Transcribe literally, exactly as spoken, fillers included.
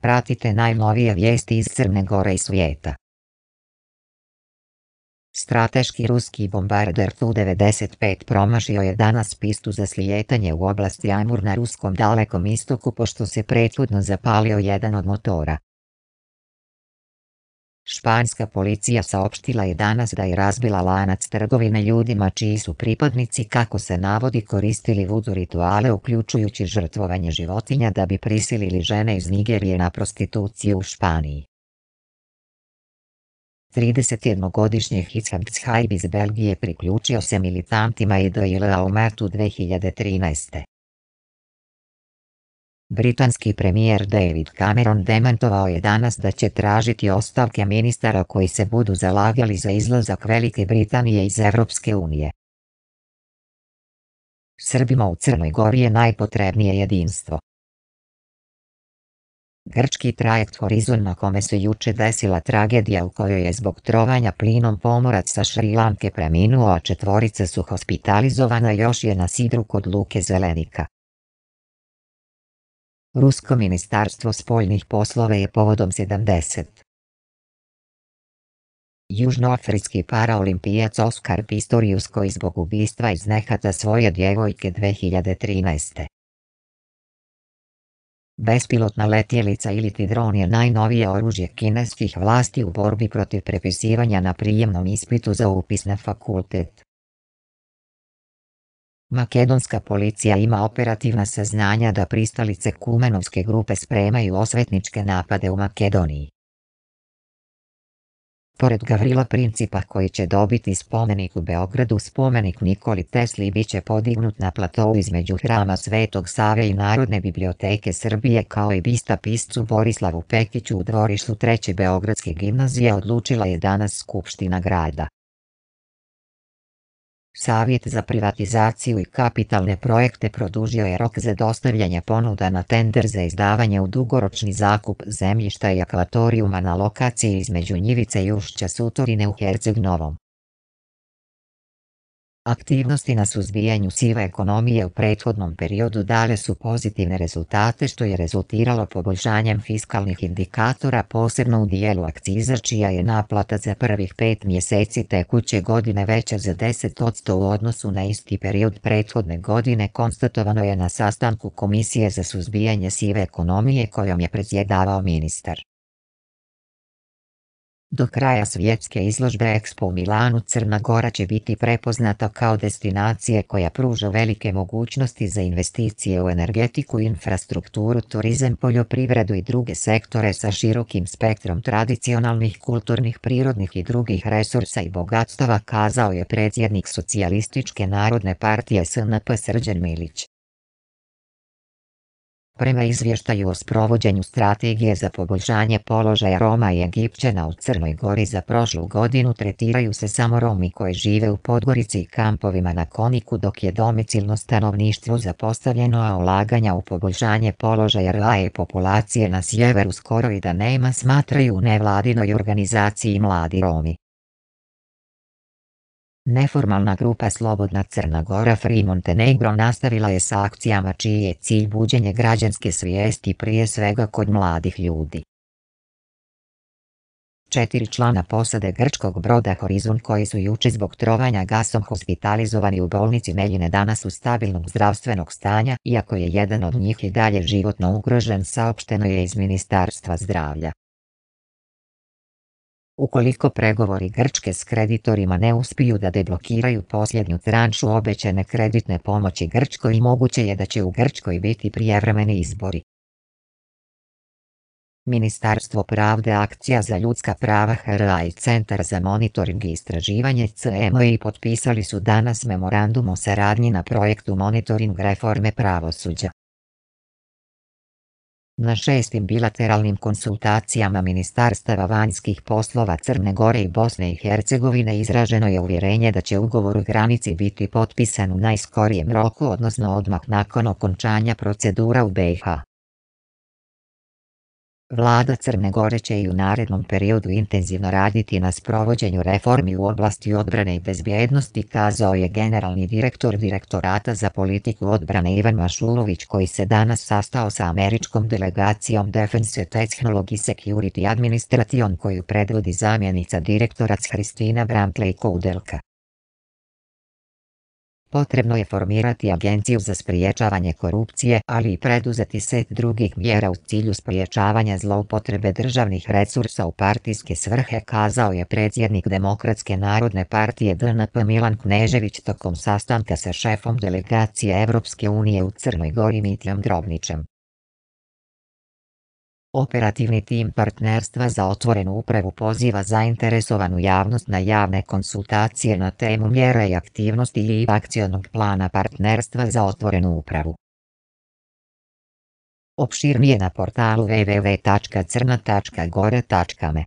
Pratite najnovije vijesti iz Crne Gore i svijeta. Strateški ruski bombarder Tu devedeset pet promašio je danas pistu za slijetanje u oblasti Amur na ruskom Dalekom istoku pošto se prethodno zapalio jedan od motora. Španska policija saopštila je danas da je razbila lanac trgovine ljudima čiji su pripadnici, kako se navodi, koristili vudu rituale uključujući žrtvovanje životinja da bi prisilili žene iz Nigerije na prostituciju u Španiji. tridesetjednogodišnji Hicam Tshaib iz Belgije priključio se militantima I D I L-a u martu dve hiljade trinaeste. Britanski premijer David Cameron demantovao je danas da će tražiti ostavke ministara koji se budu zalagali za izlazak Velike Britanije iz Evropske unije. Srbima u Crnoj Gori je najpotrebnije jedinstvo. Grčki trajekt Horizon, na kome se juče desila tragedija u kojoj je zbog trovanja plinom pomorac sa Šrilanke preminuo, a četvorica su hospitalizovana, još je na sidru kod luke Zelenika. Rusko ministarstvo spoljnih poslova je povodom sedamdeset. Južnoafrički paraolimpijac Oskar Pistorius, koji zbog ubistva iz nehata svoje djevojke dve hiljade trinaeste. Bespilotna letjelica iliti dron je najnovije oružje kineskih vlasti u borbi protiv prepisivanja na prijemnom ispitu za upis na fakultet. Makedonska policija ima operativna saznanja da pristalice Kumanovske grupe spremaju osvetničke napade u Makedoniji. Pored Gavrila Principa, koji će dobiti spomenik u Beogradu, spomenik Nikoli Tesli biće podignut na platou između Hrama Svetog Save i Narodne biblioteke Srbije, kao i bista piscu Borislavu Pekiću u dvorištu Treće Beogradske gimnazije, odlučila je danas Skupština grada. Savjet za privatizaciju i kapitalne projekte produžio je rok za dostavljanje ponuda na tender za izdavanje u dugoročni zakup zemljišta i akvatorijuma na lokaciji između Njivice i ušća Sutorine u Herceg Novom. Aktivnosti na suzbijanju sive ekonomije u prethodnom periodu dale su pozitivne rezultate, što je rezultiralo poboljšanjem fiskalnih indikatora, posebno u dijelu akciza, čija je naplata za prvih pet mjeseci tekuće godine veća za deset posto u odnosu na isti period prethodne godine, konstatovano je na sastanku Komisije za suzbijanje sive ekonomije kojom je predsjedavao ministar. Do kraja svjetske izložbe Expo u Milanu Crna Gora će biti prepoznata kao destinacija koja pruža velike mogućnosti za investicije u energetiku, infrastrukturu, turizam, poljoprivredu i druge sektore sa širokim spektrom tradicionalnih, kulturnih, prirodnih i drugih resursa i bogatstava, kazao je predsjednik Socijalističke narodne partije S N P Srđan Milić. Prema izvještaju o sprovođenju strategije za poboljšanje položaja Roma i Egipćana u Crnoj Gori za prošlu godinu, tretiraju se samo Romi koji žive u Podgorici i kampovima na Koniku, dok je domicilno stanovništvo zapostavljeno, a ulaganja u poboljšanje položaja Roma i populacije na sjeveru skoro i da nema, smatraju u nevladinoj organizaciji Mladi Romi. Neformalna grupa Slobodna Crna Gora Free Montenegro nastavila je sa akcijama čiji je cilj buđenje građanske svijesti, prije svega kod mladih ljudi. Četiri člana posade grčkog broda Horizon, koji su juče zbog trovanja gasom hospitalizovani u bolnici Neljine, danas su stabilnog zdravstvenog stanja, iako je jedan od njih i dalje životno ugrožen, saopšteno je iz Ministarstva zdravlja. Ukoliko pregovori Grčke s kreditorima ne uspiju da deblokiraju posljednju tranšu obećane kreditne pomoći Grčkoj, moguće je da će u Grčkoj biti prijevremeni izbori. Ministarstvo pravde, Akcija za ljudska prava H R A i Centar za monitoring i istraživanje C M I potpisali su danas memorandum o saradnji na projektu monitoring reforme pravosuđa. Na šestim bilateralnim konsultacijama ministarstava vanjskih poslova Crne Gore i Bosne i Hercegovine izraženo je uvjerenje da će ugovor o granici biti potpisan u najskorijem roku, odnosno odmah nakon okončanja procedura u B iH. Vlada Crne Gore će i u narednom periodu intenzivno raditi na sprovođenju reformi u oblasti odbrane i bezbjednosti, kazao je generalni direktor Direktorata za politiku odbrane Ivan Mašulović, koji se danas sastao sa američkom delegacijom Defense Technology Security Administration koju predvodi zamjenica direktora Hristina Brantley-Koudelka. Potrebno je formirati agenciju za spriječavanje korupcije, ali i preduzeti set drugih mjera u cilju spriječavanja zloupotrebe državnih resursa u partijske svrhe, kazao je predsjednik Demokratske narodne partije D N P Milan Knežević tokom sastanka sa šefom delegacije Evropske unije u Crnoj Gori Mitjom Drobnićem. Operativni tim Partnerstva za otvorenu upravu poziva zainteresovanu javnost na javne konsultacije na temu mjera i aktivnosti i akcionog plana Partnerstva za otvorenu upravu. Opširnije na portalu w w w tačka crna tačka gore tačka me.